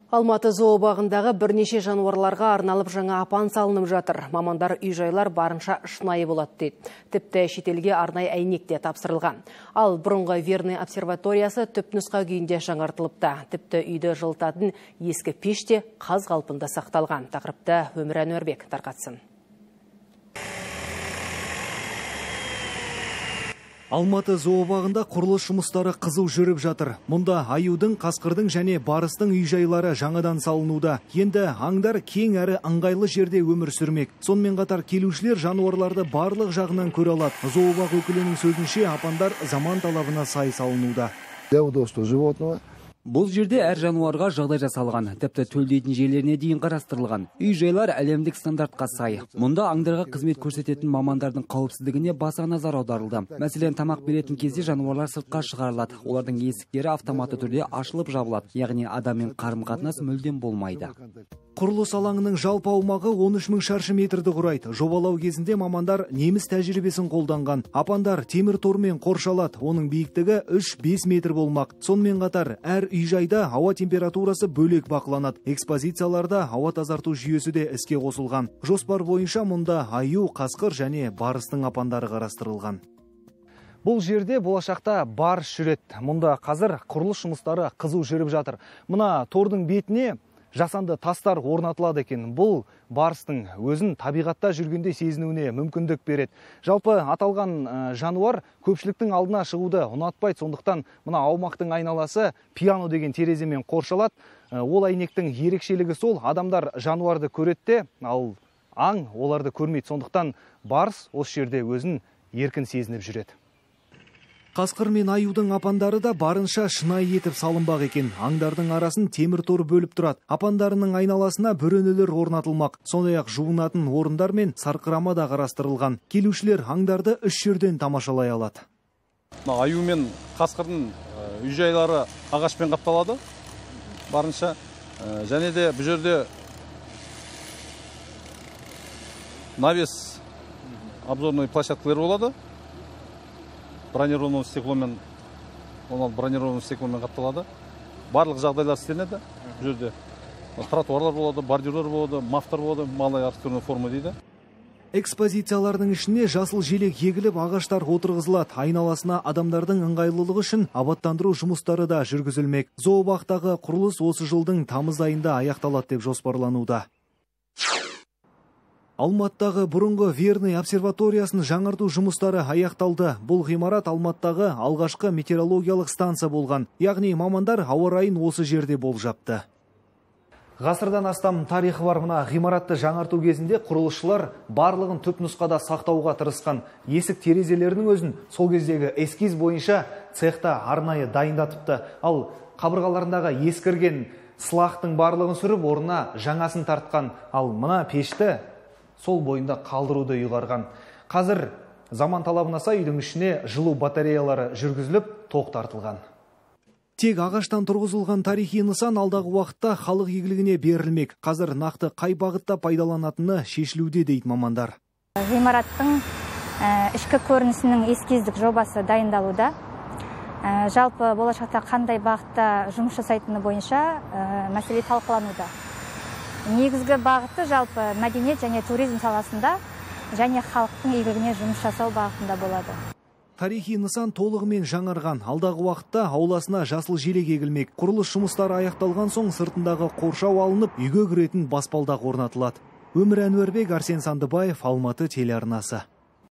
Алматы зообағындағы бірнеше жануарларға арналып жаңа апан салынып жатыр. Мамандар үй-жайлар барынша шынайы болады дейді. Тіпті шетелге арнайы әйнек те тапсырылған. Ал бұрынғы Верный обсерваториясы түпнұсқа күйінде жаңартылыпты. Тіпті үйді жылытатын ескі пеш те қаз қалпында сақталған. Тақырыпты Өмір Әнуарбек тарқатсын. Алматы зообағында құрылыс жұмыстары қызу жүріп жатыр. Мұнда аюдың, қасқырдың және барыстың үй-жайлары жаңадан салынуда. Енді аңдар кең әрі ыңғайлы жерде өмір сүрмек. Сонымен қатар келушілер жануарларды барлық жағынан көре алады. Зообақ өкілінің сөзінше апандар заман талабына сай салынуда. Для удобства животного. Бұл жерде әр жануарға жағдай жасалған, тіпті төлдейтін жерлеріне дейін қарастырылған. Үй-жайлар әлемдік стандартқа сай. Мұнда аңдарға қызмет көрсететін мамандардың қауіпсіздігіне баса назар аударылды. Мәселен, тамақ беретін кезде жануарлар сыртқа шығарылады. Олардың есіктері автоматты түрде ашылып жабылады, яғни адаммен қарым-қатынас мүлдем болмайды. Құрылыс алаңының жалпы аумағы 13.000 шаршы метрді құрайды. Жобалау кезінде мамандар неміс тәжірибесін қолданған. Апандар темір тормен қоршалады. Оның биіктігі 3-5 метр болмақ. Сонымен қатар әр үй-жайда ауа температурасы бөлек бақыланады. Экспозицияларда ауа тазарту жүйесі де іске қосылған. Жоспар бойынша мұнда аю, қасқыр және барыстың апандары қарастырылған. Бұл жерде болашақта барыс жүреді. Мұнда қазір құрылыс жұмыстары қызу жүріп жатыр. Мына тордың бетіне жасанды тастар орнатылады екен. Бұл барыстың өзін табиғатта жүргенде сезінуіне мүмкіндік береді. Жалпы аталған жануар көпшіліктің алдына шығуды ұнатпайды. Сондықтан мына аумақтың айналасы пиано деген тереземен қоршалады. Ол әйнектің ерекшелігі сол, адамдар жануарды көреді, ал аң оларды көрмейді. Сондықтан барыс осы жерде өзін еркін сезініп жүреді. Қасқыр мен аюдың апандары да барынша шынайы етіп салынбақ екен. Аңдардың арасын темір тор бөліп тұрады. Апандарының айналасына бөренелер орнатылмақ. Сондай-ақ жуынатын орындар мен сарқырама да қарастырылған. Келушілер аңдарды үш жерден тамашалай алады. Аю мен қасқырдың үй-жайлары ағашпен қапталады. Барынша және де бұл жерде навес обзорный площадкалар болады. Бронированный стекломен қапталады. Барлық жағдайлар істелінеді. Бұл жерде тротуарлар болады, бордюрлар болады, мафтар болады, малай архитектурный форма дейді. Экспозициялардың ішіне жасыл желек егіліп, ағаштар отырғызылады. Айналасына адамдардың ыңғайлылығы үшін абаттандыру жұмыстары да жүргізілмек. Зообақтағы құрылыс осы жылдың тамыз айында аяқталады деп жоспарлануда. Алматыдағы бұрынғы Верный обсерваториясын жаңарту жұмыстары аяқталды. Бұл ғимарат Алматыдағы алғашқы метеорологиялық станция болған. Яғни мамандар ауа райын осы жерде болжапты. Ғасырдан астам тарихы бар мына ғимаратты жаңарту кезінде құрылысшылар барлығын түпнұсқада сақтауға тырысқан. Есік терезелерінің өзін сол кездегі эскиз бойынша цехта арнайы дайындатыпты. Ал қабырғаларындағы ескірген сылақтың барлығын сүріп, орнына жаңасын тартқан. Ал мына пешті сол бойында қалдыруды ұйғарған. Қазір заман талабына сай үйдің ішіне жылу батареялары жүргізіліп, тоқ тартылған. Тек ағаштан тұрғызылған тарихи нысан алдағы уақытта халық игілігіне берілмек. Қазір нақты қай бағытта пайдаланатыны шешілуде дейді мамандар. Ғимараттың ішкі көрінісінің эскиздік жобасы дайындалуда. Жалпы болашақта қандай бағытта жұмыс жасайтыны бойынша мәселе талқылануда. Негізгі бағыты жалпы мәдениет және туризм саласында және халықтың игілігіне жұмыс жасау бағытында болады. Тарихи нысан толығымен жаңарған. Алдағы уақытта ауласына жасыл желек егілмек. Құрылыс жұмыстары аяқталған соң сыртындағы қоршау алынып, үйге кіретін баспалдақ орнатылады. Өмір Әнуарбек, Арсен Сандыбаев, Алматы телеарнасы.